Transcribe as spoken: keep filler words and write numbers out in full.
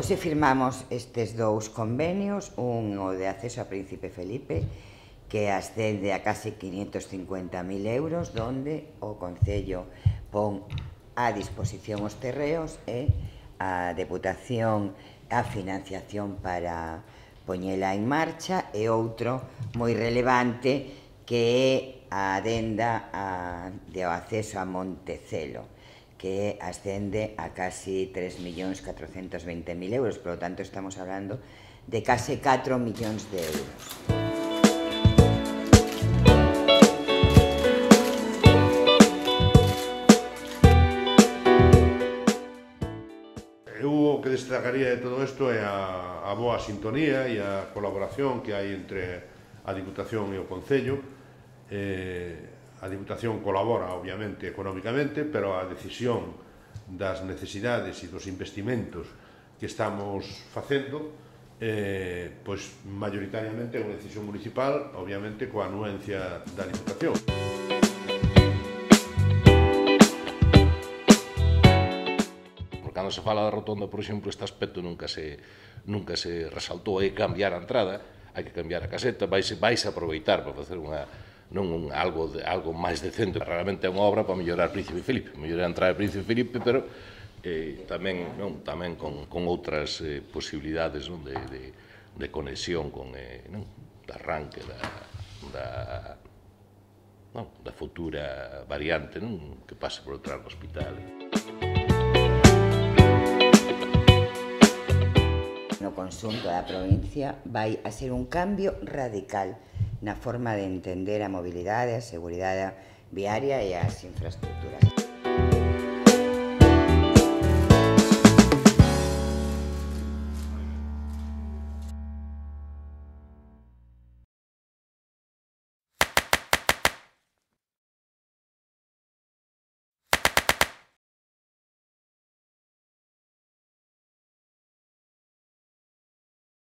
Hoxe firmamos estes dous convenios, un o de acceso a Príncipe Felipe, que ascende a case quinhentos cincuenta mil euros, donde o Concello pon a disposición os terreos e a Deputación a financiación para poñela en marcha, e outro moi relevante que é a adenda a, de acceso a Montecelo, que ascende a casi tres millóns catrocentos veinte mil euros, por lo tanto estamos hablando de case catro millóns de euros. Eu o que destacaría de todo isto é a, a boa sintonía e a colaboración que hai entre a Diputación e o Concello. Eh, a Diputación colabora, obviamente, económicamente, pero a decisión das necesidades e dos investimentos que estamos facendo, eh, pois, mayoritariamente é unha decisión municipal, obviamente, coa anuencia da Diputación. Cando se fala da rotonda, por exemplo, este aspecto nunca se, nunca se resaltou. Hai que cambiar a entrada, hai que cambiar a caseta, vais, vais a aproveitar para facer unha, non un, algo, de, algo máis decente. Realmente é unha obra para mellorar Príncipe Felipe, mellorar a entrada de Príncipe Felipe, pero eh, tamén, non, tamén con, con outras eh, posibilidades, non, de, de, de conexión con eh, non, de arranque da, da, non, da futura variante, non, que pase por detrás do hospital. No conxunto da provincia vai a ser un cambio radical na forma de entender a mobilidade, a seguridade viaria e as infraestructuras.